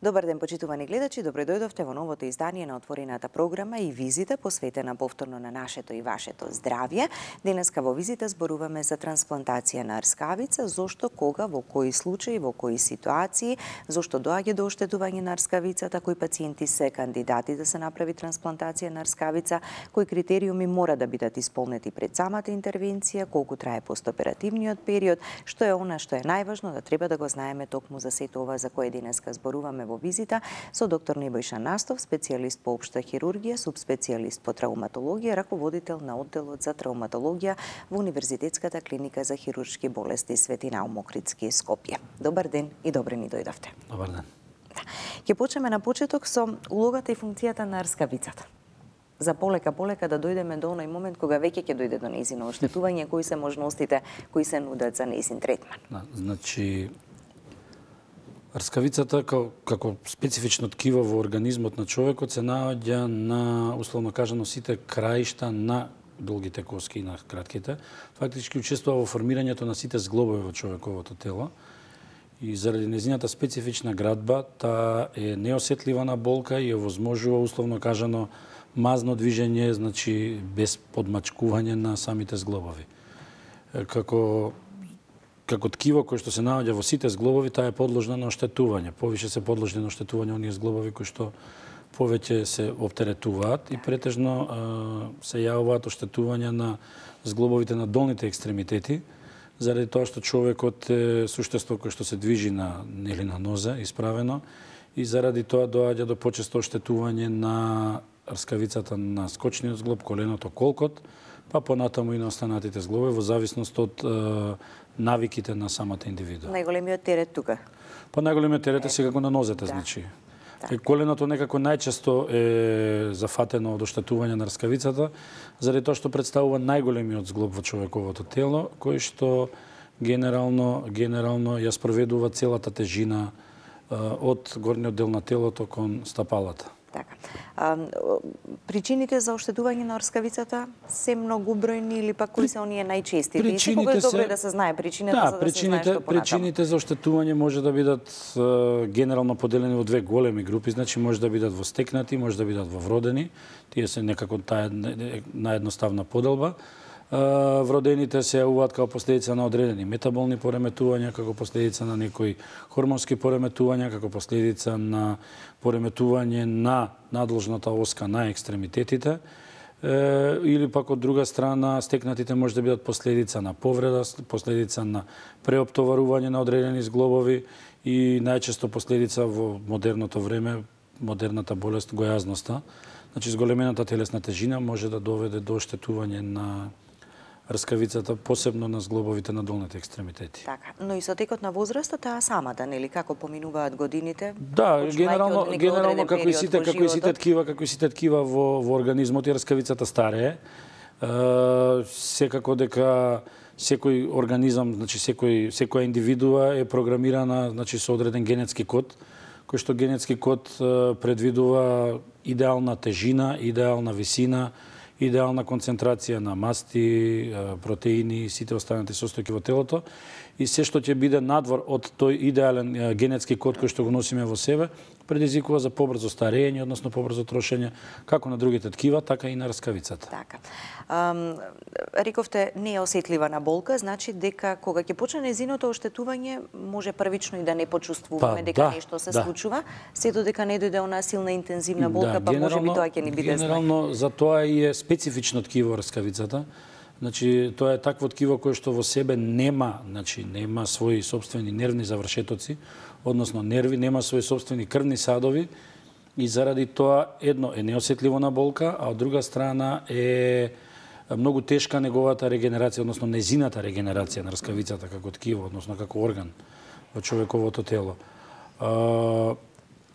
Добар ден, почитувани гледачи, добро дојдовте во новото издание на отворената програма и визита посветена повторно на нашето и вашето здравје. Денеска во визита зборуваме за трансплантација на рскавица, зошто, кога, во кои случаи, во кои ситуации, зошто доаѓа до оштетување на рскавицата, кои пациенти се кандидати да се направи трансплантација на рскавица, кои критериуми мора да бидат исполнети пред самата интервенција, колку трае постоперативниот период, што е она што е најважно да треба да го знаеме токму за сето ова за кое денеска зборуваме во визита со доктор Небојша Настов, специјалист по општа хирургија, субспецијалист по травматологија, раководител на одделот за травматологија во Универзитетската клиника за хируршки болести Свети Наум Охридски, Скопје. Добар ден и добре ни дојдовте. Добар ден. Ќе почнеме на почеток со улогата и функцијата на рскавицата. За полека да дојдеме до оној момент кога веќе ќе дојде до нејзино оштетување, кои се можностите кои се нудат за нејзин третман. Значи, рскавицата како специфично ткиво во организмот на човекот се наоѓа на, условно кажано, сите краишта на долгите коски и на кратките. Фактички учествува во формирањето на сите зглобови во човековото тело. И заради незината специфична градба, таа е неосетлива на болка и овозможува, условно кажано, мазно движење, значи без подмачкување на самите зглобови. Како ткиво кој што се наоѓа во сите зглобови, таа е подложна на оштетување. Повише се подложни на оштетување оние зглобови кои што повеќе се оптеретуваат и претежно се јавуваат оштетувања на зглобовите на долните екстремитети, заради тоа што човекот е суштество кој што се движи на нозе, исправено, и заради тоа доаѓа до почесто оштетување на рскавицата на скочниот зглоб, коленото, колкот, па понатаму и на останатите зглобови во зависност од навиките на самата индивидуа. Најголемиот терет тука? Па најголемиот терет е секако на нозете, значи. Коленото некако најчесто е зафатено од оштетување на рскавицата, заради тоа што представува најголемиот зглоб во човековото тело, кој што генерално ја спроведува целата тежина од горниот дел на телото кон стапалата. Така. Причините за оштетување на рскавицата се многу бројни или пак кои се оние најчести? Секогаш добро е да се знае причината, за да се знае што понатаму. Причините за оштетување може да бидат генерално поделени во две големи групи, значи може да бидат во стекнати, може да бидат во вродени. Тие се некако таа наједноставна поделба. Вродените се јавуваат како последица на одредени метаболни пореметувања, како последица на некои хормонски пореметувања, како последица на пореметување на надложната оска на екстремитетите, или пак од друга страна стекнатите може да бидат последица на повреда, последица на преоптоварување на одредени зглобови и најчесто последица во модерното време, модерната болест гојазноста. Значи, зголемената телесна тежина може да доведе до оштетување на рскавицата, посебно на зглобовите на долните екстремитети. Така, но и со текот на возрастот таа самата, нели, како поминуваат годините? Да, генерално како и сите ткива во организмот и рскавицата старее. Секако дека секој организам, значи секоја индивидуа е програмирана, значи со одреден генетски код, кој што генетски код предвидува идеална тежина, идеална висина, идеална концентрација на масти, протеини и сите останати состојки во телото. И се што ќе биде надвор од тој идеален генетски код кој што го носиме во себе, предизвикува за побрзо старење, односно побрзо трошење, како на другите ткива, така и на рскавицата. Така. Рековте, не е осетлива на болка, значи дека кога ќе почне нејзиното оштетување, може првично и да не почувствуваме дека нешто се случува, се додека не дојде она силна интензивна болка, па можеби тоа ќе ни биде знак. Генерално за тоа и е специфично ткиво рскавицата. Значи, тоа е такво ткиво кое што во себе нема своји собствени нервни завршетоци, односно нерви, нема своји собствени крвни садови и заради тоа едно е неосетливо на болка, а од друга страна е многу тешка неговата регенерација, односно незината регенерација на рскавицата како ткиво, односно како орган во човековото тело.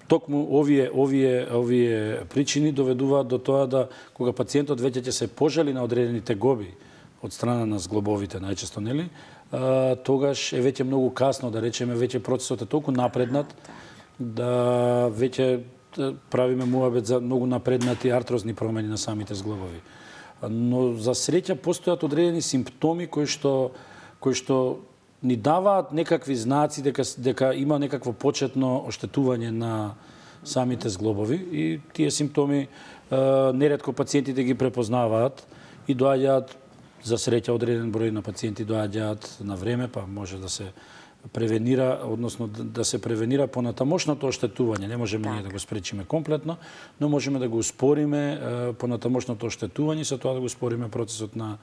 Токму овие причини доведуваат до тоа да кога пациентот веќе ќе се пожали на одредени тегоби од страна на зглобовите најчесто, нели, тогаш е веќе многу касно, да речеме, веќе процесот е толку напреднат да веќе правиме муабет за многу напреднати артрозни промени на самите зглобови. Но за среќа постојат одредени симптоми кои што ни даваат некакви знаци дека има некакво почетно оштетување на самите зглобови и тие симптоми неретко пациентите ги препознаваат и доаѓаат, за среќа одреден број на пациенти доаѓаат на време, па може да се превенира, односно да се превенира понатамошното оштетување. Не можеме ние да го спречиме комплетно, но можеме да го успориме понатамошното оштетување и со тоа да го успориме процесот на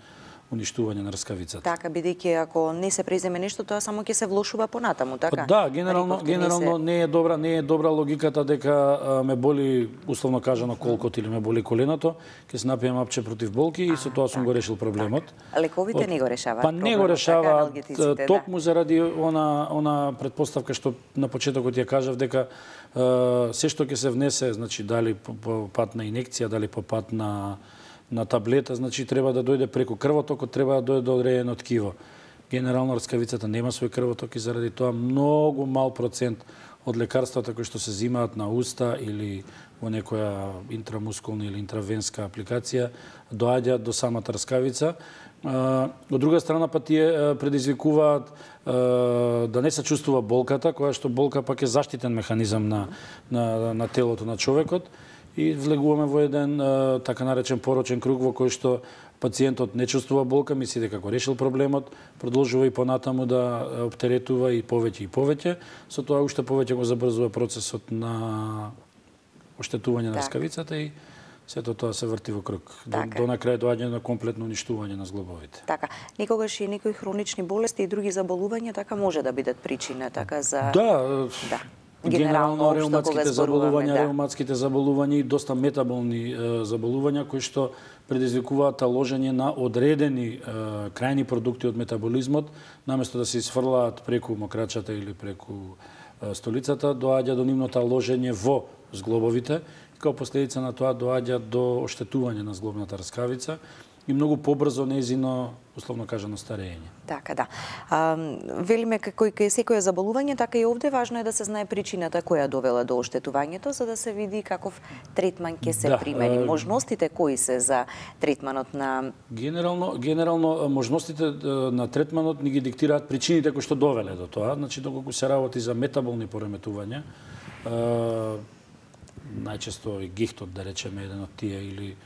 уништување на рскавицата. Така, бидејќи ако не се преземе нешто, тоа само ќе се влошува понатаму, така? Да, генерално не е добра логиката дека ме боли, условно кажано, колкот или ме боли коленото, ќе се напијам апче против болки и со тоа сум го решил проблемот. Лековите не го решаваат. Па не го решаваат токму заради она предпоставка што на почетокот ја кажав дека се што ќе се внесе, значи дали по пат на инекција, дали по пат на таблета, значи треба да дојде преку крвотокот, треба да дојде до одредено ткиво. Генерално рскавицата нема свој крвоток и заради тоа многу мал процент од лекарствата кои што се земаат на уста или во некоја интрамускулна или интравенска апликација доаѓаат до самата рскавица. Од друга страна па тие предизвикуваат да не се чувствува болката, која што болка пак е заштитен механизам на телото на човекот. И влегуваме во еден така наречен порочен круг во кој што пациентот не чувствува болка, мисли дека го решил проблемот, продолжува и понатаму да оптеретува и повеќе, со тоа уште повеќе го забрзува процесот на оштетување на рскавицата и сето тоа се врти во круг. До на крај доаѓа на комплетно уништување на зглобовите. Така, никогаш и некои хронични болести и други заболувања така може да бидат причина така за Да. Генерално реуматските заболувања и доста метаболни заболувања кои што предизвикуваат ложење на одредени крајни продукти од метаболизмот, наместо да се изфрлаат преку мокрачата или преку столицата, доаѓа до нивното ложење во зглобовите и као последица на тоа доаѓа до оштетување на зглобната рскавица и многу побрзо нејзино, условно кажано, старење. Така, да. Велиме како и кај секоја заболување, така и овде важно е да се знае причината која довела до оштетувањето, за да се види каков третман ќе се примени. Можностите кои се за третманот на... Генерално можностите на третманот ни ги диктираат причините кои што довеле до тоа. Значи, доколку се работи за метаболни пореметувања, најчесто и гихтот, да речеме, еден од тие, или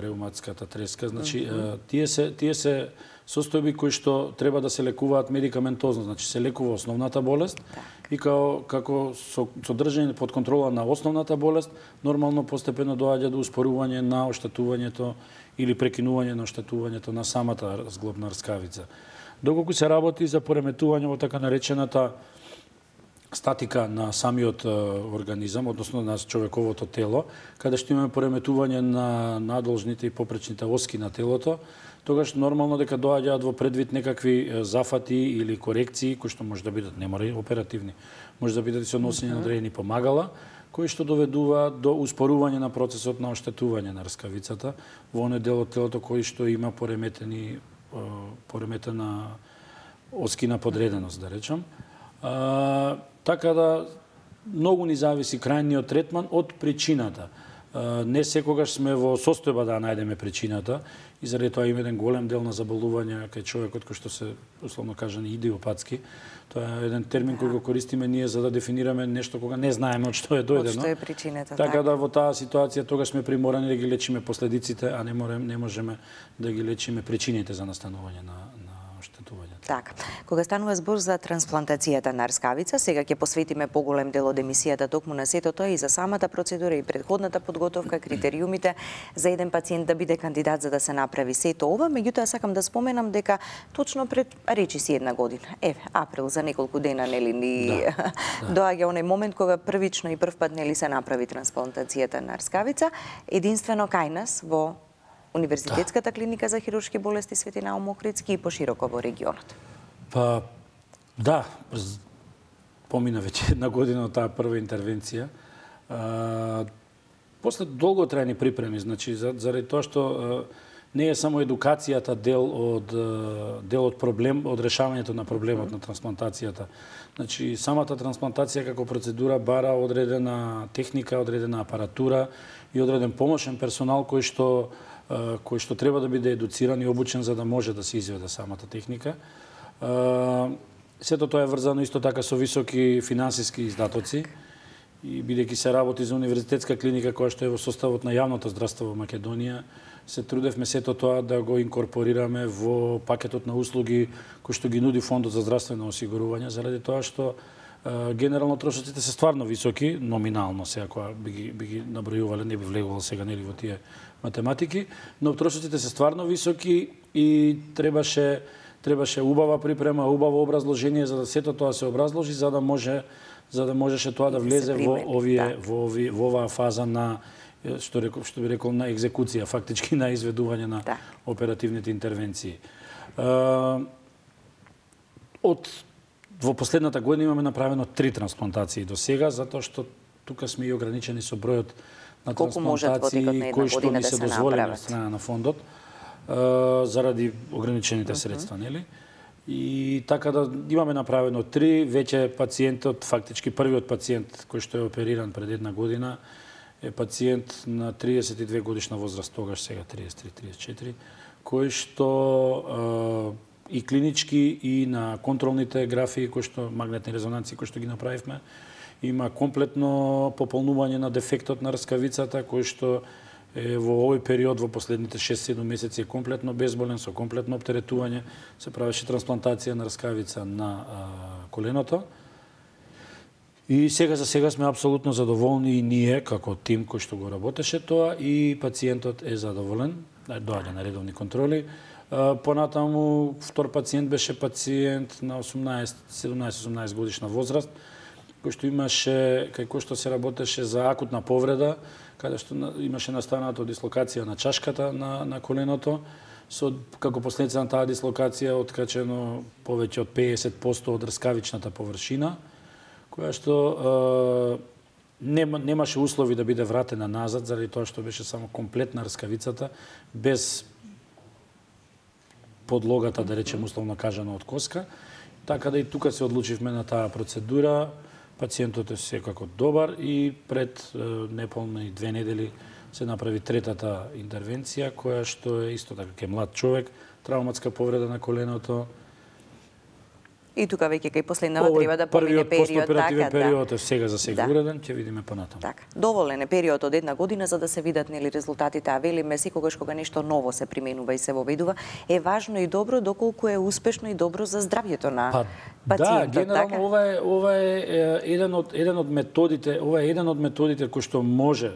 реуматската треска, значи тие се состојби кои што треба да се лекуваат медикаментозно, значи се лекува основната болест и како содржање под контрола на основната болест, нормално постепено доаѓа до успорување на оштетувањето или прекинување на оштетувањето на самата зглобна рскавица. Доколку се работи за пореметување во така наречената статика на самиот организам, односно на човековото тело, каде што имаме пореметување на надолжните и попречните оски на телото, тогаш нормално дека доаѓаат во предвид некакви зафати или корекции, кои што може да бидат, не мора и оперативни, може да бидат и со носење на одредени помагала, кои што доведуваат до успорување на процесот на оштетување на рскавицата во оној дел од телото кој што има пореметена оскина подреденост, да речам. Така да многу ни зависи крајниот третман од причината. Не секогаш сме во состојба да најдеме причината и заради тоа има еден голем дел на заболувања кај човекот кој што се, условно кажани, идиопатски. Тоа е еден термин кој го користиме ние за да дефинираме нешто кога не знаеме од што е дојдено. Од што е причината. Така да во таа ситуација тогаш сме приморани да ги лечиме последиците, а не можеме да ги лечиме причините за настанување на оштетувањето. Така, кога станува збор за трансплантацијата на рскавица, сега ќе посветиме поголем дел од емисијата токму на сето тоа и за самата процедура и предходната подготовка, критериумите за еден пациент да биде кандидат за да се направи сето ова. Меѓутоа сакам да споменам дека точно пред речиси една година, април, за неколку дена, нели, доаѓа оној момент кога првично и првпат нели се направи трансплантацијата на рскавица, единствено кај нас во Универзитетската клиника за хируршки болести Свети Наум Охридски и пошироко во регионот. Па, да, помина веќе една година од таа прва интервенција. После долготрајни припреми, значи, заради тоа што не е само едукацијата дел од проблем, од решавањето на проблемот на трансплантацијата. Значи, самата трансплантација како процедура бара одредена техника, одредена апаратура и одреден помошен персонал кој што треба да биде едуциран и обучен за да може да се изведе самата техника. Сето тоа е врзано исто така со високи финансиски издатоци и бидејќи се работи за универзитетска клиника која што е во составот на јавното здравство во Македонија, се трудевме сето тоа да го инкорпорираме во пакетот на услуги кој што ги нуди Фондот за здравствено осигурување, заради тоа што генерално трошоците се стварно високи, номинално се ако би ги набројувале, не би влегувал сега нели во тие математики, но трошоците се стварно високи и требаше убава припрема, убаво образложение за да сето тоа се образложи за да можеше тоа да влезе во оваа фаза на што би рекол на екзекуција, фактички на изведување на оперативните интервенции. Во последната година имаме направено 3 трансплантации до сега, затоа што тука сме и ограничени со бројот на трансплантации кои што ни се дозволени од страна на фондот заради ограничените средства, нели? И така да имаме направено 3, веќе пациентот, фактички првиот пациент кој што е опериран пред една година е пациент на 32 годишна возраст, тогаш сега 33-34, кој што и клинички и на контролните графии кои што магнетни резонанции кои што ги направивме, има комплетно пополнување на дефектот на рскавицата кој што е во овој период во последните 6-7 месеци е комплетно безболен, со комплетно оптеретување, се правеше трансплантација на рскавица на коленото. И сега за сега сме апсолутно задоволни и ние како тим кој што го работеше тоа и пациентот е задоволен, доаѓа на редовни контроли. Понатаму втор пациент беше пациент на 17-18 годишна возраст, кој што имаше, кај кој што се работеше за акутна повреда, каде што имаше настанато дислокација на чашката на коленото, како последица на таа дислокација откачено повеќе од 50% од рскавичната површина, која што немаше услови да биде вратена назад, заради тоа што беше само комплетна рскавицата, без подлогата, да речем условно кажано, од коска. Така да и тука се одлучивме на таа процедура. Пациентот е секако добар и пред неполни 2 недели се направи третата интервенција, која што е исто така ке млад човек, травматска повреда на коленото. И тука веќе кај последнава треба да помине период, така, период е сега за сега уреден, ќе видиме понатаму. Така. Доволен е период од една година за да се видат нели резултатите, а велиме секогаш кога нешто ново се применува и се воведува, е важно и добро доколку е успешно и добро за здравјето на пациентот. Да, генерално ова е еден од методите кои што може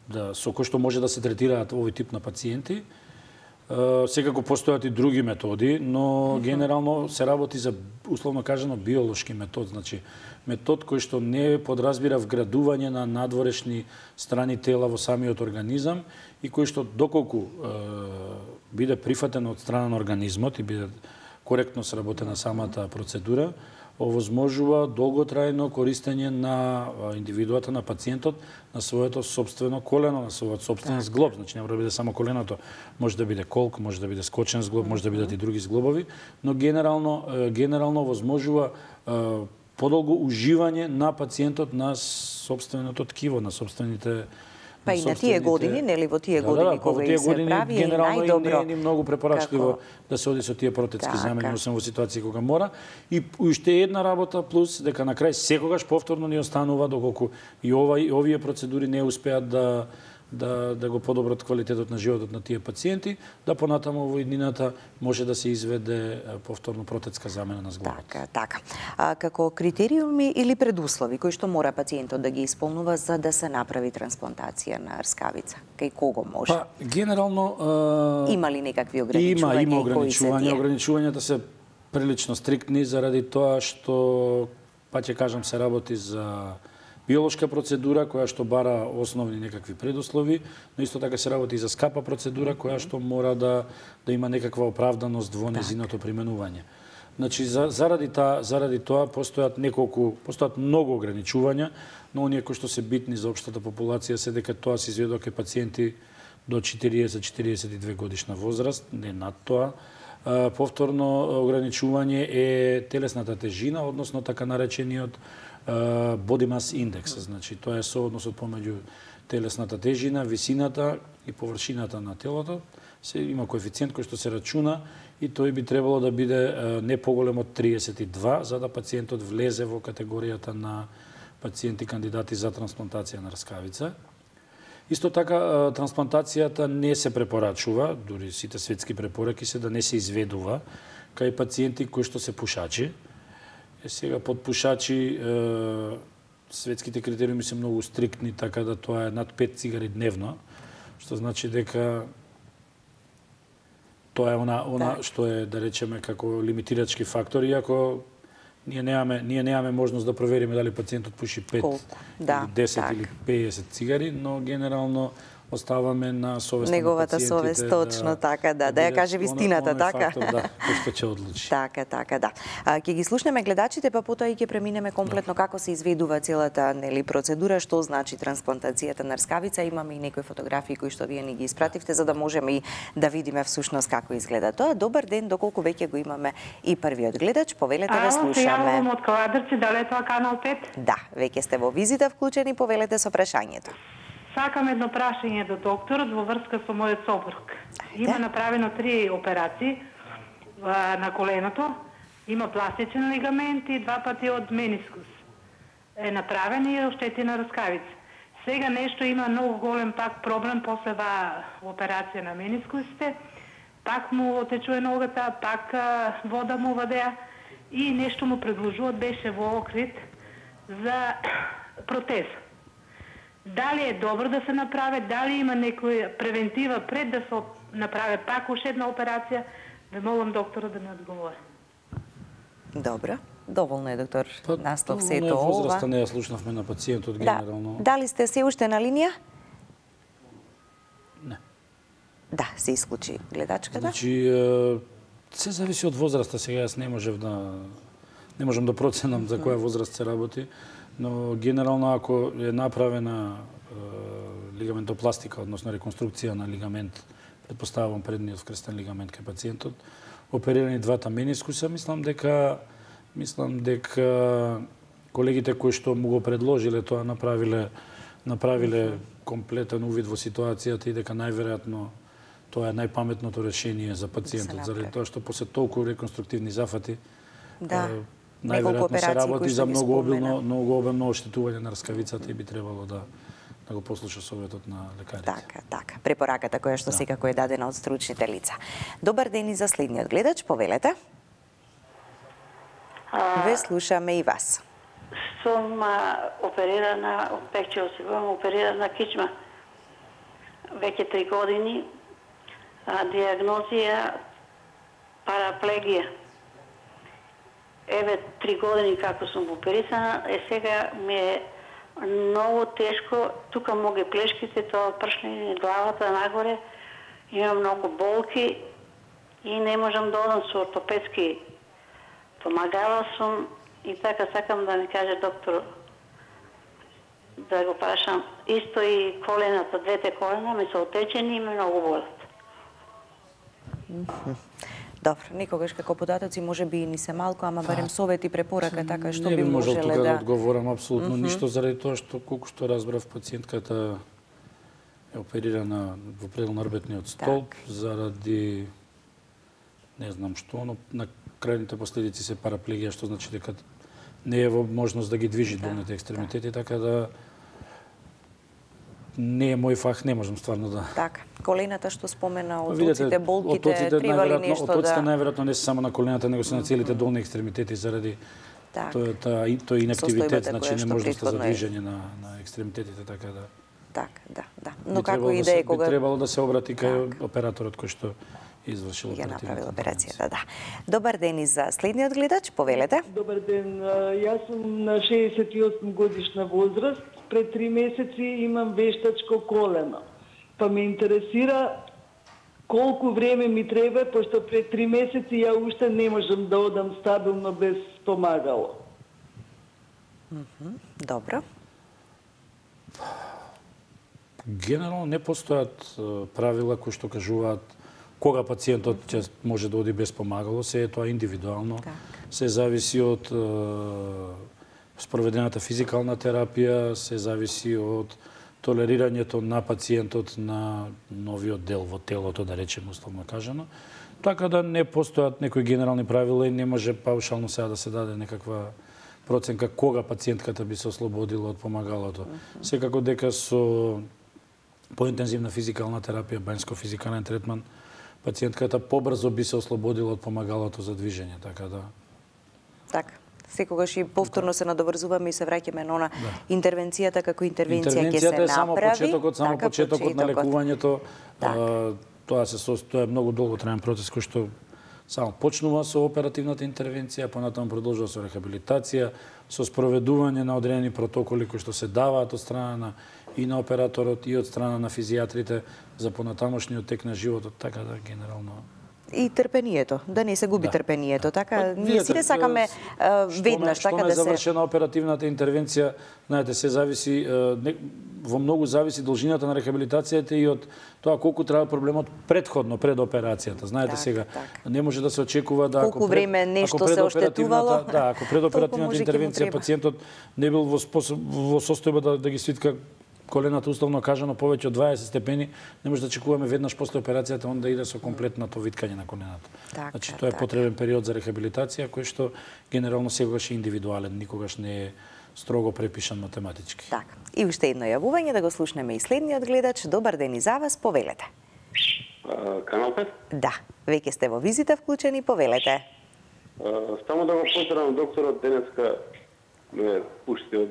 да се третираат овој тип на пациенти. Секако постојат и други методи, но генерално се работи за, условно кажано, биолошки метод. Значи, метод кој што не подразбира вградување на надворешни страни тела во самиот организам и кој што доколку биде прифатен од страна на организмот и биде коректно сработена самата процедура, овозможува долготрајно користење на индивидуата, на пациентот, на своето собствено колено, на својот собствен зглоб. Значи, не мора да биде само коленото, може да биде колк, може да биде скочен зглоб, може да бидат и други зглобови, но генерално овозможува подолго уживање на пациентот на собственото ткиво, на собствените Па и на тие години, нели во тие години кога се прави, генерално најдобро. Не е многу препорачливо да се оди со тие протетски замени, освен во ситуации кога мора. И уште една работа плюс дека на крај секогаш повторно ни останува доколку и овие процедури не успеат да го подобрат квалитетот на животот на тие пациенти, да понатаму во иднината може да се изведе повторно протетска замена на зглобот. Така. Како критериуми или предуслови кои што мора пациентот да ги исполнува за да се направи трансплантација на рскавица? Кај кого може? Па, генерално има ли некакви ограничувања? Има ограничувања. Ограничувањата се прилично стриктни заради тоа што, па ќе кажам, се работи за биолошка процедура која што бара основни некакви предуслови, но исто така се работи и за скапа процедура која што мора да има некаква оправданост во незиното применување. Значи заради тоа постојат многу ограничувања, но оние кои што се битни за општата популација се дека тоа се изведува кај пациенти до 40-42 годишна возраст, не над тоа. Повторно ограничување е телесната тежина, односно така наречениот body mass index, значи тоа е соодносот помеѓу телесната тежина, висината и површината на телото, има коефициент кој што се рачуна и тој би требало да биде не поголем од 32 за да пациентот влезе во категоријата на пациенти кандидати за трансплантација на рскавица. Исто така, трансплантацијата не се препорачува, дури сите светски препораки се да не се изведува кај пациенти кои што се пушачи. Сега под пушачи светските критериуми се многу стриктни, така да тоа е над 5 цигари дневно, што значи дека тоа е она што е, да речеме, како лимитирачки фактор, иако ние немаме можност да провериме дали пациентот пуши 5 или 10 или 50 цигари, но генерално оставаме на совест неговата совест, точно така, да ја каже вистината, така. Фактор, да, кој што ќе одлучи. Така, да. Ќе ги слушнеме гледачите, па потоа и ќе преминеме комплетно како се изведува целата процедура, што значи трансплантацијата на рскавица. Имаме и некои фотографии кои што вие ни ги испративте за да можеме и да видиме всушност како изгледа тоа. Добар ден, доколку веќе го имаме и првиот гледач, повелете да слушаме. Се јавувам од Каладрци, дали е тоа канал 5? Да, веќе сте во визита вклучени, повелете со прашањето. Сакам едно прашање до докторот во врска со мојот сопруг. Има направено 3 операции на коленото, има пластичен лигамент и 2 пати од менискус. Е направен и оштетена рскавица. Сега нешто има многу голем пак проблем после операција на менискусите. Пак му отечува ногата, пак вода му вадеа и нешто му предложуваат, беше во Окрит за протеза. Дали е добро да се направи, дали има некоја превентива пред да се направи пак уште една операција, ве молам доктора да ми одговори. Добро. Доволно е, доктор Настов, сето ова. Возраста не ја слушнавме на пациентот генерално. Дали сте се уште на линија? Не. Да, се исклучи гледачката. Значи, се зависи од возраста. Сега јас не можам да проценам за која возраст се работи, но генерално ако е направена лигаментопластика, односно реконструкција на лигамент, предпоставувам предниот вкрстен лигамент кај пациентот, оперирани 2 менискуса, мислам дека колегите кои што му го предложиле тоа направиле комплетен увид во ситуацијата и дека најверојатно тоа е најпаметното решение за пациентот, заради тоа што после толку реконструктивни зафати најверојатно се работи за многу обилно оштетување на рскавицата и би требало да го послуша советот на лекарите. Така. Препораката која што секако е дадена од стручните лица. Добар ден и за следниот гледач, повелете. Ве слушаме и вас. Сум оперирана, веќе осигурам оперирана кичма. Веќе 3 години. Диагнозија параплегија. Еве 3 години како сум оперисана, сега ми е многу тешко, тука му ги плешките, тоа пршни главата нагоре, имам многу болки и не можам да одам со ортопедски помагала сум и така сакам да ми каже доктор да го прашам. Исто и колената, 2 колена ми се отечени и ме многу болат. Добро, некогаш како податоци може би и ни се малку, ама барем совет и препорака така што би можеле да... Не би можел тука да одговорам апсолутно ништо заради тоа што колку што разбрав пациентката е оперирана во предел на рбетниот столб заради не знам што, но на крајните последици се параплегија, што значи дека не е во можност да ги движи долните екстремитети, така да не е мој фах, не можам стварно да... Така, колената што спомена, отоците, болките, треба ли нешто да... Отоците најверојатно не се само на колената, него се на целите долни екстремитети заради тој инактивитет, значи неможноста за движење на екстремитетите, така да... Така, да. Но како и да е кога... Би требало да се обрати кај операторот кој што извршил операцијата, да. Добар ден и за следниот гледач, повелете. Добар ден, јас сум на 68 годишна возраст, пред 3 месеци имам вештачко колено. Па ме интересира колку време ми треба, пошто пред 3 месеци ја уште не можам да одам стабилно без помагало. Добро. Генерално не постојат правила кои што кажуваат кога пациентот ќе може да оди без помагало, се е тоа индивидуално. Се зависи од спроведената физикална терапија, се зависи од толерирањето на пациентот на новиот дел во телото, да речеме условно кажано. Така да не постојат некои генерални правила и не може паушално сега да се даде некаква проценка кога пациентката би се ослободила од помагалото. Секако дека со поинтензивна физикална терапија, бањско-физикален третман, пациентката побрзо би се ослободила од помагалото за движење, така да. Така. Секогаш и повторно се надоврзуваме и се враќаме на интервенцијата како интервенција ќе се направи. Интервенцијата е само почетокот на лекувањето. Тоа е многу долготраен процес кој што само почнува со оперативната интервенција, понатаму продолжува со рехабилитација, со спроведување на одредени протоколи кои што се даваат од страна и на операторот и од страна на физијатрите за понатамошниот тек на животот, така да генерално и трпението, да не се губи трпението, така ние сите сакаме веднаш така да се. Што е завршена оперативната интервенција, знаете, се зависи во многу зависи должината на рехабилитацијата и од тоа колку трае проблемот претходно пред операцијата. Знаете сега, не може да се очекува да колку време нешто се оштетувало. Да, ако пред оперативната интервенција пациентот не бил во состојба да ги свитка колената условно кажано повеќе од 20 степени, не може да чекуваме веднаш после операцијата он да иде со комплетното виткање на колената. Значи тоа е потребен период за рехабилитација кој што генерално секогаш е индивидуален, никогаш не е строго препишан математички. Така. И уште едно јавување да го слушнеме и следниот гледач. Добар ден и за вас, повелете. Канал 5? Да, веќе сте во визита вклучени, повелете. Само да го поздравам докторот, денеска ме пушти од...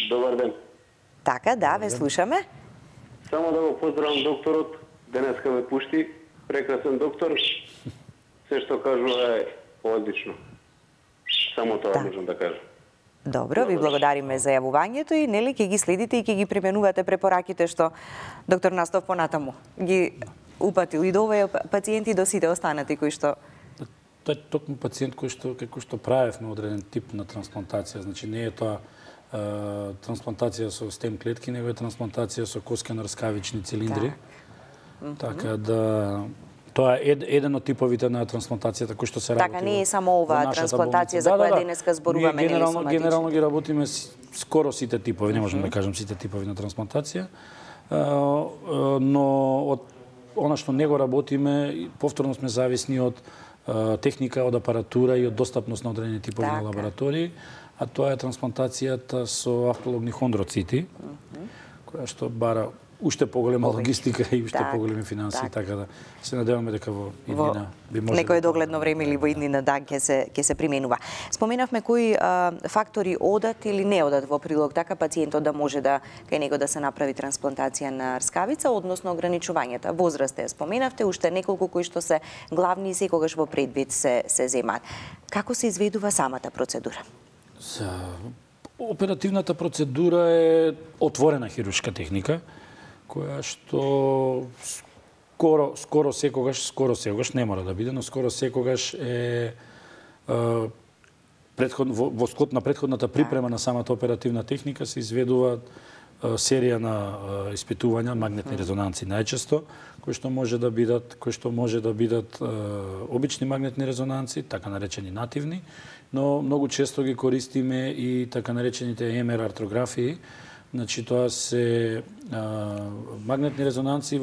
Добар ден. Така, да, ве слушаме. Само да го поздравам докторот, денеска ме пушти, прекрасен доктор, се што кажува е одлично. Само тоа можам да кажам. Добро, ви благодариме за јавувањето и нели ќе ги следите и ќе ги применувате препораките што доктор Настов понатаму ги упатил и до овие пациенти до сите останати кои што Тоа е токму пациент кој што правевме одреден тип на трансплантација, значи не е тоа трансплантација со стем клетки, него е трансплантација со коскено-рскавични цилиндри. Така да тоа е еден од типовите на трансплантацијата кои што се работи. Така не е само оваа трансплантација за која денеска зборуваме, нели соматични. Генерално ги работиме скоро сите типови, не можам да кажам сите типови на трансплантација, но од она што не го работиме, повторно сме зависни од техника, од апаратура и од достапност на одредени типови на лаборатории, а тоа е трансплантацијата со автологни хондроцити, која што бара уште поголема логистика и уште поголеми финанси, така да се надеваме дека во иднина би може некој догледно време или во иднина ќе се применува. Споменавме кои фактори одат или не одат во прилог така пациентот да може да кај него да се направи трансплантација на рскавица, односно ограничувањата. Возраст е споменавте, уште неколку кои што се главни и секогаш во предвид се земаат. Како се изведува самата процедура? Оперативната процедура е отворена хируршка техника, која што скоро секогаш не мора да биде, но скоро секогаш е во склоп на претходната припрема на самата оперативна техника се изведува серија на испитувања, магнетни резонанци најчесто, кои што може да бидат обични магнетни резонанци, така наречени нативни, но многу често ги користиме и така наречените МР артрографии. Значи тоа се магнетни резонанци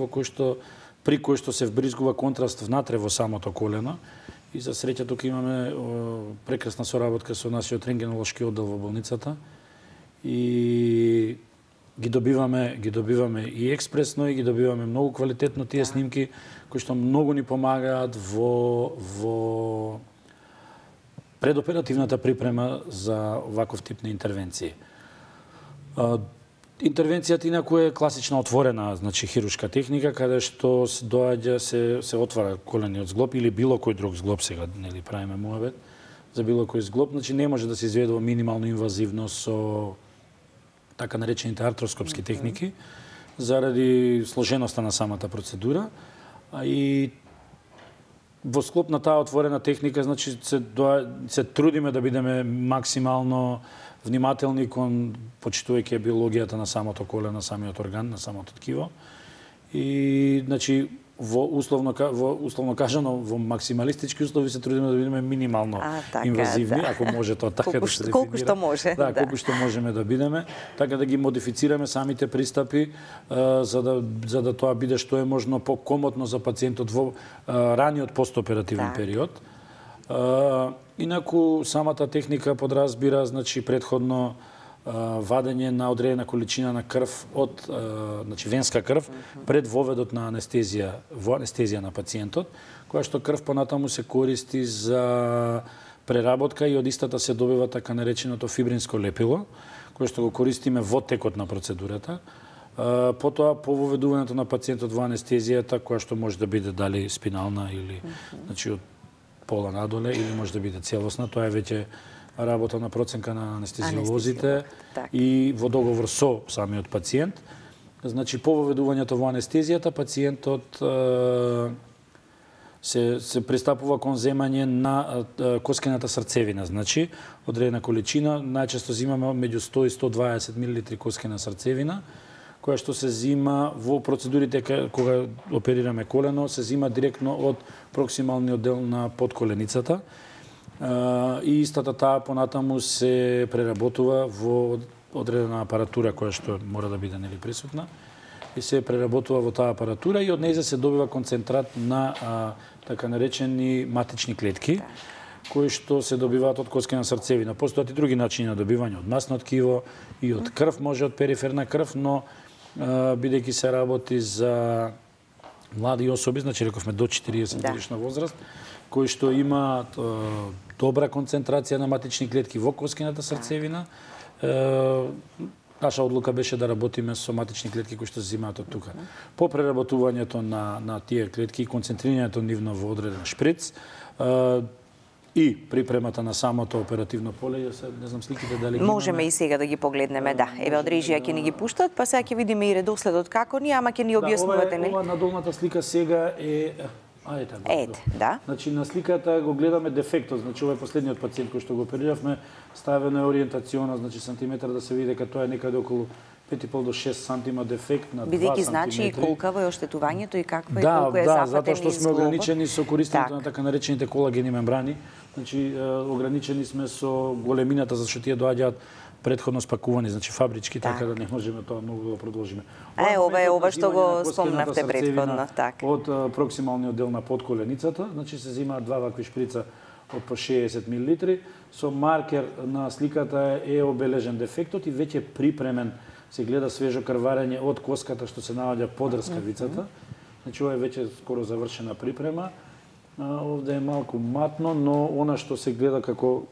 при кои што се вбризгува контраст внатре во самото колено. И за среќа тука имаме прекрасна соработка со нашиот рентгенолошки оддел во болницата. И ги добиваме и експресно и ги добиваме многу квалитетно тие снимки кои што многу ни помагаат во предоперативната припрема за ваков тип на интервенции. Интервенцијата инаку е класична отворена, значи хируршка техника каде што се доаѓа се отвара колениот зглоб или било кој друг зглоб, сега нели правиме муабет за било кој зглоб, значи не може да се изведува минимално инвазивно со така наречените артроскопски техники заради сложеноста на самата процедура, а и во склоп на таа отворена техника, значи се трудиме да бидеме максимално внимателни кон почитувајќи биологијата на самото колено, на самиот орган, на самото ткиво. И значи во условно кажано во максималистички услови се трудиме да бидеме минимално инвазивни, ако може тоа така да се дефинира. Колку што може. Да, колку што можеме да бидеме, така да ги модифицираме самите пристапи за да тоа биде што е можно покомотно за пациентот во раниот постоперативен период. Инаку самата техника подразбира значи претходно вадење на одредена количина на крв од значи венска крв пред воведот на анестезија на пациентот, која што крв понатаму се користи за преработка и од истата се добива така нареченото фибринско лепило, кое што го користиме во текот на процедурата. Потоа по воведувањето на пациентот во анестезијата, која што може да биде дали спинална или значи од пола надоле или може да биде целосна, тоа е веќе работа на проценка на анестезиолозите и во договор со самиот пациент. Значи, по воведувањето во анестезијата, пациентот се пристапува кон земање на коскената срцевина. Значи, одредена количина, најчесто зимаме меѓу 100 и 120 мл коскена срцевина, која што се зима во процедурите кога оперираме колено, се зима директно од проксималниот дел на подколеницата. И истата таа понатаму се преработува во одредена апаратура која што мора да биде нели присутна и се преработува во таа апаратура и од неја се добива концентрат на така наречени матични клетки кои што се добиваат од коскена срцевина. Постојат и други начини на добивање, од масно ткиво и од крв, може од периферна крв, но бидејќи се работи за млади особи, значи рековме до 40 годишна возраст, кои што имаат добра концентрација на матични клетки во коскената срцевина. Наша одлука беше да работиме со матични клетки кои што се зимаат од тука. По преработувањето на тие клетки и концентрирањето нивно во одреден шприц и припремата на самото оперативно поле, не знам сликите дали ги можеме и сега да ги погледнеме, да. Еве од режија ќе ни ги пуштат, па сега ќе видиме и редоследот како ни, ама ќе ни објаснувате, нели? Ова на долната слика сега е да. Значи на сликата го гледаме дефектот, значи ова е последниот пациент кој што го опериравме, ставено е ориентациона, значи сантиметар да се види дека тоа е некаде околу 5,5 до 6 сантима дефект на 2 сантиметри. Бидејќи значи и колкаво е оштетувањето и каква е колку е зафатен и затоа што сме ограничени со користењето на така наречените колагени мембрани. Значи ограничени сме со големината за што тие доаѓаат претходно спакувани, значи фабрички, така да не можеме тоа многу да продолжиме. Ова што го спомнавте претходно, така. Од проксималниот дел на подколеницата, значи се зимаат два вакви шприца од по 60 мл, со маркер на сликата е обележен дефектот и веќе припремен, се гледа свежо крварење од коската што се наоѓа под рскавицата. Значи ова е веќе скоро завршена припрема. Овде е малку матно, но она што се гледа како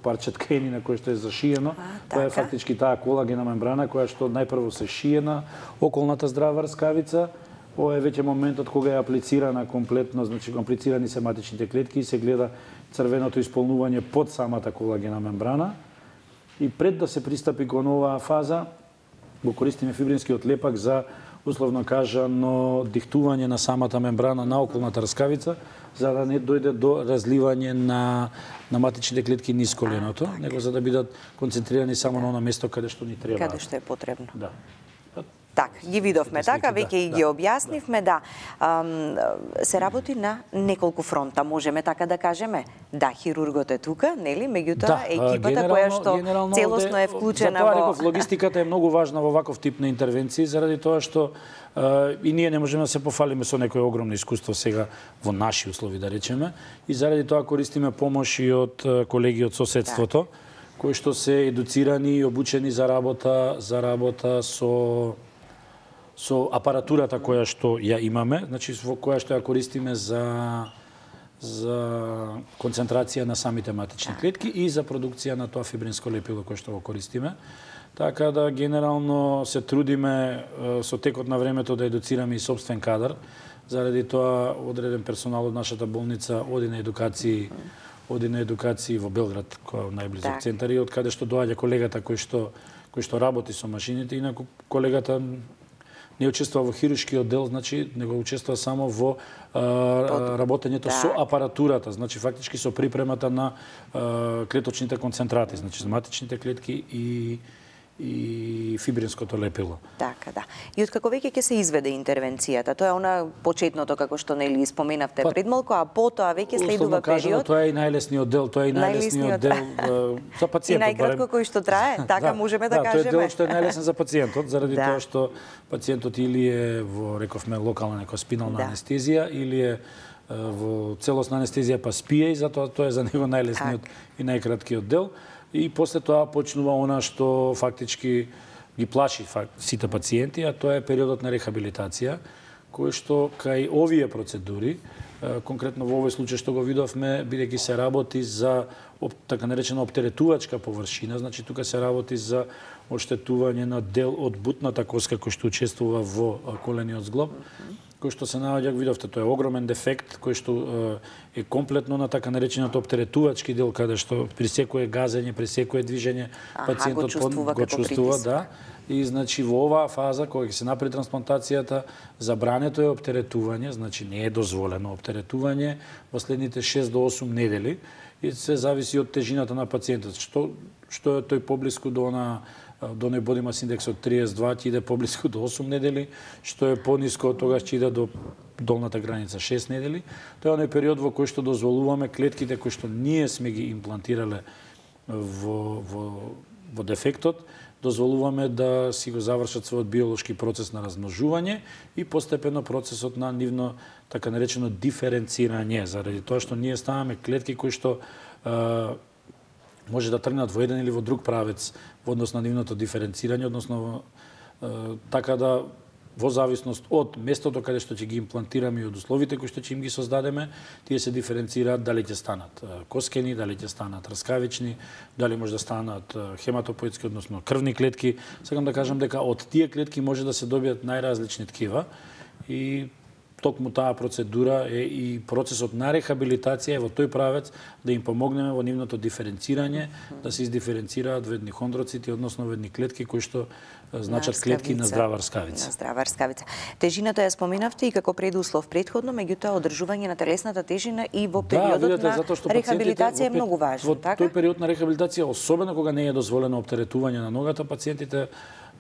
парче тканина кој што е зашиено, тоа е фактички таа колагена мембрана која што најпрво се шие на околната здрава рскавица. Ова е веќе моментот кога е аплицирана комплетно, значи аплицирани се матичните клетки и се гледа црвеното исполнување под самата колагена мембрана. И пред да се пристапи кон оваа фаза, го користиме фибринскиот лепак за условно кажано диктување на самата мембрана на околната рскавица, за да не дојде до разливање на матичните клетки низ коленото, него за да бидат концентрирани само на оно место каде што ни треба. Каде што е потребно. Да. Така, ги видовме така, веќе и ги објаснивме, да. Се работи на неколку фронта, можеме така да кажеме. Да, хирургот е тука, нели? Меѓутоа, екипата која што целосно е вклучена во... Затоа реков, логистиката е многу важна во ваков тип на интервенции, заради тоа што и ние не можеме да се пофалиме со некое огромно искуство сега во наши услови, да речеме, и заради тоа користиме помош и од колеги од соседството, кои што се едуцирани и обучени за работа со апаратурата која што ја имаме, значи во која што ја користиме за концентрација на самите матични клетки и за продукција на тоа фибринско лепило кое што го користиме. Така да генерално се трудиме со текот на времето да едуцираме и собствен кадар. Заради тоа одреден персонал од нашата болница оди на едукации во Белград, кој е најблизок центар, и од каде што доаѓа колегата кој што работи со машините, инаку колегата не учествува во хируршкиот дел, значи него учествува само во работењето со апаратурата, значи фактички со припремата на клеточните концентрати, значи матичните клетки и фибринското лепило. Така, да. И откако веќе ќе се изведе интервенцијата? Тоа е она почетното, како што нели споменавте пред малку, а потоа веќе следува период. Тоа е и најлесниот дел, тоа е и најлесниот дел за пациентот. И најкратко кој што трае, така можеме да кажеме. Тоа е делот што е најлесен за пациентот, заради тоа што пациентот или е во, рековме, локална нека спинална анестезија, или е во целосна анестезија па спие, и затоа тоа е за него најлесниот и најкраткиот дел. И после тоа почнува она што фактички ги плаши сите пациенти, а тоа е периодот на рехабилитација, кој што кај овие процедури, конкретно во овој случај што го видовме, бидејќи се работи за така наречена оптеретувачка површина, значи тука се работи за оштетување на дел од бутната коска кој што учествува во колениот зглоб, кој што се наоѓа, видовте, тоа е огромен дефект кој што е комплетно на така наречениот оптеретувачки дел, каде што при секое газење, при секое движење пациентот го чувствува, да. И значи во оваа фаза кога ќе се направи трансплантацијата, забрането е оптеретување, значи не е дозволено оптеретување во следните 6 до 8 недели, и се зависи од тежината на пациентот. Што е тој поблиску до оној body mass index од 32 ќе иде поблиску до 8 недели, што е пониско од тогаш ќе иде до долната граница 6 недели. Тоа е оној период во кој што дозволуваме клетките кои што ние сме ги имплантирале во дефектот, дозволуваме да си го завршат својот биолошки процес на размножување и постепено процесот на нивно така наречено диференцирање, заради тоа што ние ставаме клетки кои што може да тргнат во еден или во друг правец во однос на нивното диференцирање, односно така да во зависност од местото каде што ќе ги имплантираме и од условите кои што ќе им ги создадеме, тие се диференцираат дали ќе станат коскени, дали ќе станат раскавични, дали може да станат хематопоетски, односно крвни клетки. Сакам да кажам дека од тие клетки може да се добијат најразлични ткива и токму таа процедура е и процесот на рехабилитација е во тој правец да им помогнеме во нивното диференцирање, да се издиференцираат во едни хондроцити, односно во едни клетки кои што значат клетки на здрава рскавица. На здрава рскавица. Тежината ја споменавте и како предуслов претходно, меѓутоа одржување на телесната тежина и во периодот на рехабилитација е многу важно, така? Во тој период на рехабилитација, особено кога не е дозволено оптеретување на ногата, пациентите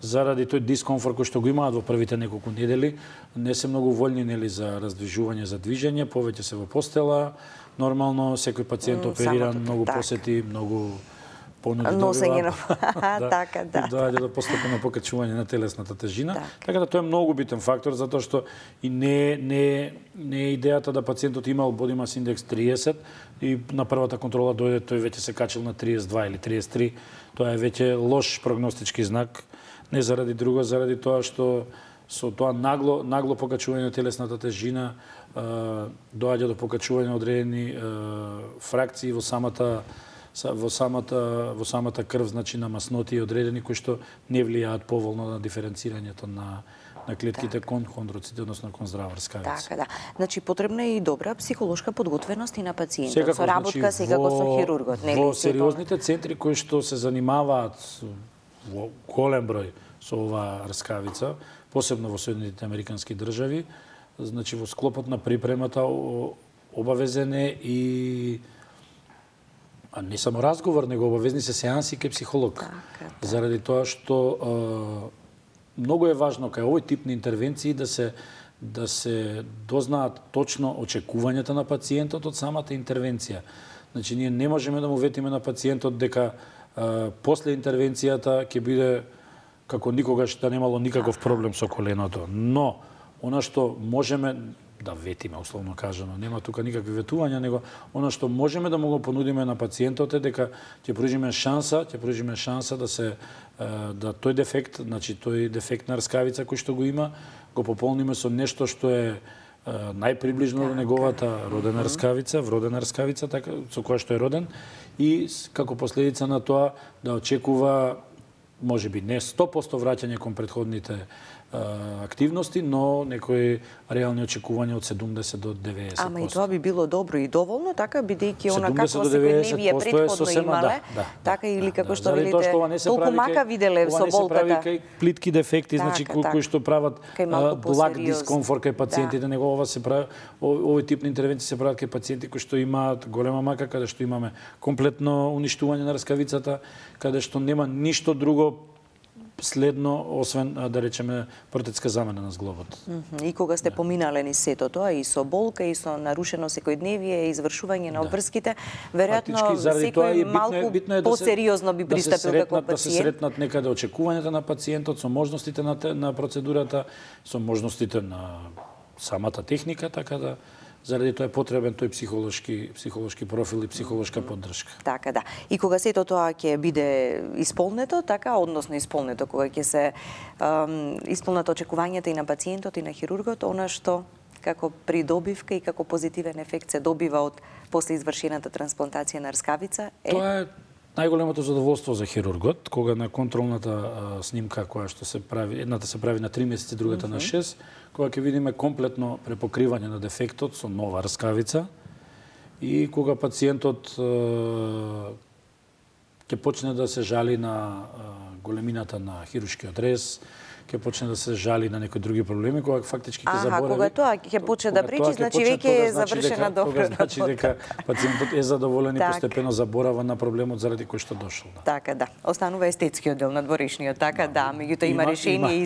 заради тој дискомфорт кој што го имаат во првите неколку недели, не се многу вољни нели за раздвижување, за движење, повеќе се во постела. Нормално секој пациент опериран, многу посети, многу понуди носење на така, да. Доаѓа до постепено покачување на телесната тежина. Така да тоа е многу битен фактор, затоа што и не е идејата да пациентот имал body mass index 30 и на првата контрола дојде тој веќе се качил на 32 или 33. Тоа е веќе лош прогностички знак. Не заради друго, заради тоа што со тоа нагло покачување на телесната тежина доаѓа до покачување на одредени фракции во самата крв, значи на масноти одредени кои што не влијаат поволно на диференцирањето на клетките кон хондроците, односно кон здрава рскавица. Така, да. Значи потребна е и добра психолошка подготвеност и на пациентот, со работка секако со хирургот, нели? Во сериозните центри кои што се занимаваат во голем број со оваа рскавица, посебно во Соединетите Американски држави, значи во склопот на припремата обавезен е и не само разговор, него обавезни се сеанси кај психолог. Заради тоа што многу е важно кај овој тип на интервенции да се дознаат точно очекувањата на пациентот од самата интервенција. Значи ние не можеме да му ветиме на пациентот дека после интервенцијата ќе биде како никогаш да немало никаков проблем со коленото. Но, она што можеме да ветиме, условно кажано, нема тука никакви ветувања, него она што можеме да му го понудиме на пациентот е дека ќе пружиме шанса да тој дефект, значи тој дефект на рскавица кој што го има, го пополниме со нешто што е најприближно до неговата родена рскавица, вродена рскавица, така со која што е роден, и како последица на тоа да очекува можеби не 100% враќање кон претходните активности, но некои реални очекувања од 70 до 90%. Ама и тоа би било добро и доволно, така, бидејќи она какво секојдневие претходно имале, така или како што велите, толку мака виделе со болката. Ова не се прави кај плитки дефекти, значи кои што прават благ дискомфорт кај пациентите, него ова се прави, овој тип на интервенции се прават кај пациенти кои што имаат голема мака, каде што имаме комплетно уништување на рскавицата, каде што нема ништо друго следно, освен, да речеме, протетска замена на зглобот. И кога сте поминале ни сето тоа, и со болка, и со нарушено секојдневие, и извршување на обврските, веројатно секој малку посериозно би пристапил како пациент. Да се сретнат некаде очекувањата на пациентот, со можностите на процедурата, со можностите на самата техника, така да заради тоа е потребен тој психолошки профил и психолошка поддршка. Така да. И кога сето тоа ќе биде исполнето, така, односно исполнето, кога ќе се исполнат очекувањата и на пациентот и на хирургот, она што како придобивка и како позитивен ефект се добива од после извршената трансплантација на рскавица е... Тоа е најголемото задоволство за хирургот, кога на контролната снимка која што се прави, едната се прави на 3 месеци, другата на 6, кога ќе видиме комплетно препокривање на дефектот со нова рскавица и кога пациентот ќе почне да се жали на големината на хируршкиот рез, ќе почне да се жали на некои други проблеми, кога фактички ќе заборави. Кога тоа ќе почне да пречи, значи веќе е завршена добра работа. Значи дека пациентот е задоволен и постепено заборава на проблемот заради кој што дошол. Така да. Останува естетскиот дел на дворешниот, така да, меѓутоа има решение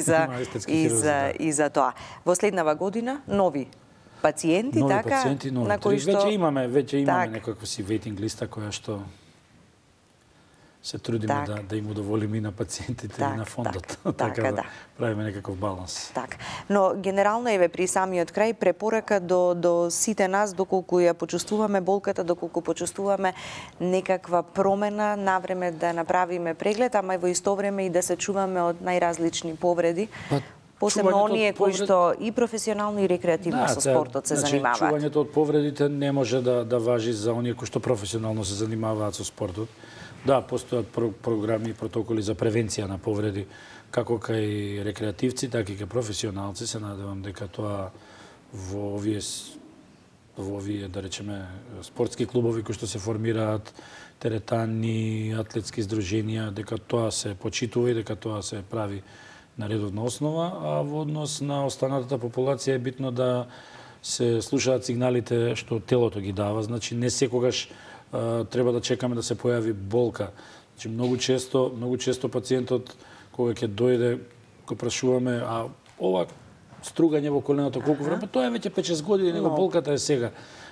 и за тоа. Во следнава година нови пациенти, така, на кои што веќе имаме некаква си вейтинг листа која што се трудиме да им удоволиме и на пациентите и на фондот. Така да правиме некаков баланс. Так. Но генерално еве при самиот крај препорака до сите нас, доколку ја почувствуваме болката, доколку почувствуваме некаква промена, навреме да направиме преглед, ама и во исто време и да се чуваме од најразлични повреди. Посебно оние кои што и професионално и рекреативно со спортот се занимаваат. Чувањето од повредите не може да важи за оние кои што професионално се занимаваат со спортот. Да, постојат програми и протоколи за превенција на повреди, како кај рекреативци, така и кај професионалци. Се надевам дека тоа во овие, да речеме, спортски клубови кои што се формираат, теретани, атлетски здруженија, дека тоа се почитува и дека тоа се прави на редовна основа, а во однос на останатата популација е битно да се слушаат сигналите што телото ги дава. Значи, не секогаш треба да чекаме да се појави болка. Значи, многу често пациентот кога ќе дојде, го прашуваме, а ова стругање во коленото колку време, тоа е веќе 5-6 години, него болката е сега.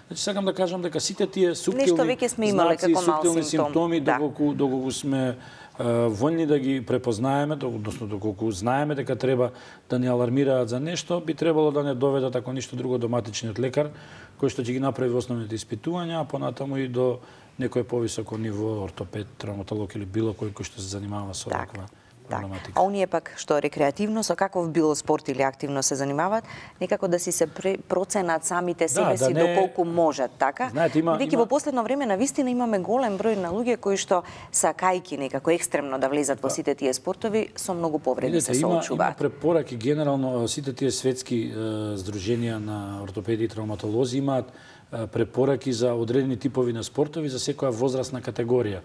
Значи, сакам да кажам дека сите тие суптилни знаци, суптилни симптоми, доколку сме војни да ги препознаеме, односно доколку знаеме дека треба да ни алармираат за нешто, би требало да не доведат ако ништо друго до матичниот лекар, кој што ќе ги направи основните испитувања, а понатаму и до некој повисоко ниво ортопед, травматолог или било кој што се занимава со таква проблематика. А оние пак што рекреативно, со каков било спорт или активно се занимаваат, некако да си се проценат самите себе си доколку можат, така? Бидејќи во последно време навистина имаме голем број на луѓе кои што сакајки некако екстремно да влезат во сите тие спортови, со многу повреди се соочуваат. Има препораки генерално, сите тие светски здруженија на ортопеди и травматолози имаат препораки за одредени типови на спортови за секоја возрастна категорија.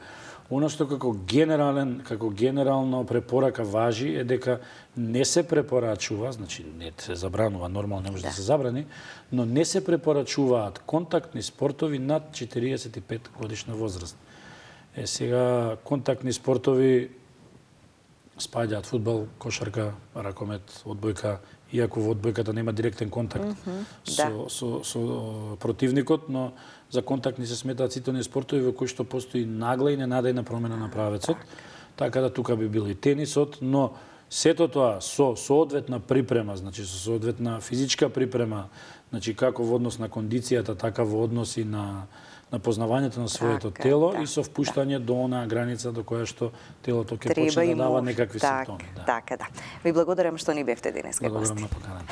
Оно што како генерално препорака важи е дека не се препорачува, значи не се забранува, нормално не може да се забрани, но не се препорачуваат контактни спортови над 45 годишна возраст. Сега контактни спортови спаѓаат фудбал, кошарка, ракомет, одбојка, иако во одбојката нема директен контакт со противникот, но за контактни се сметаат сите оние спортови во кои што постои нагла и ненадејна промена на правецот, така да тука би бил и тенисот, но сето тоа со соодветна припрема, значи со соодветна физичка припрема, значи како во однос на кондицијата, така во однос и на познавањето на своето тело и со впуштање до онаа граница до која што телото ќе почне да дава некакви симптоми. Така да. Ви благодарам што ни бевте денеска гости. Благодарам на поканата.